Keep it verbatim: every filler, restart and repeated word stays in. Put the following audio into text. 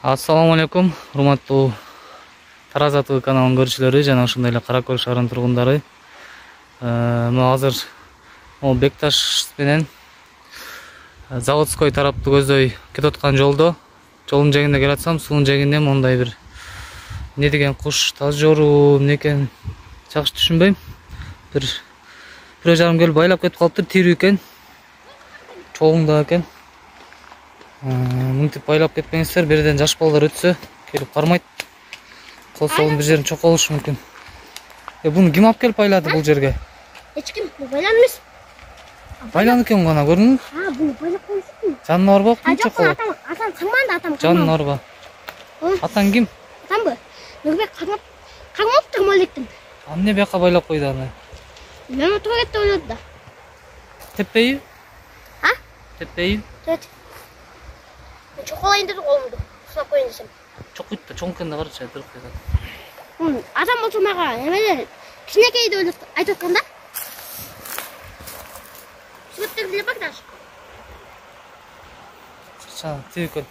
Ассаламу алейкум, урматтуу Тараз ТВ каналынын көрүүчүлөрү жана ошондой эле Кара Көл шаарынын тургундары. Мына азыр могу Бекташ менен Заводской тарапты көздөй кетип аткан жолдо, жолдун жээгинде келатсам, суунун жээгинде мондай бир эмне деген куш, таз жоору эмне экен жакшы түшүнбөйм. Бир бирөө жарым келип байлап кетип калыптыр, тирүү экен. Чогуңда экен. Мынтип байлап кетпеңиздер, берден жаш балдар өтсө келип кармайт. Кол солдун бир жерин чокуп алышы мүмкүн. Э, буну ким алып келип байлады бул жерге? Эч ким, бул байлан эмес. Байлан экен гана, көрдүңбү? А, буну байлап коюшсуң. Жанына барбы? Ким чокуп? Атам, атам каманда, атам. Жанына барбы? Атаң ким? Атамбы? Нурбек кармап, кармаптыр молектим. А эмне бияка байлап койду аны? Мен отура кетти ойлоду да. Теппейби? А? Теппейби? Тет. Мен чоколайын деди колумду. Сунап коюн десем. Чокуйт да, чоң экенде карачы, дырк кетет. Атам болсо мага эмелер кичинекейди ойлоп айтып аткан да. Сүрөттөрдү эле бак даш. Чыкча, тип экен.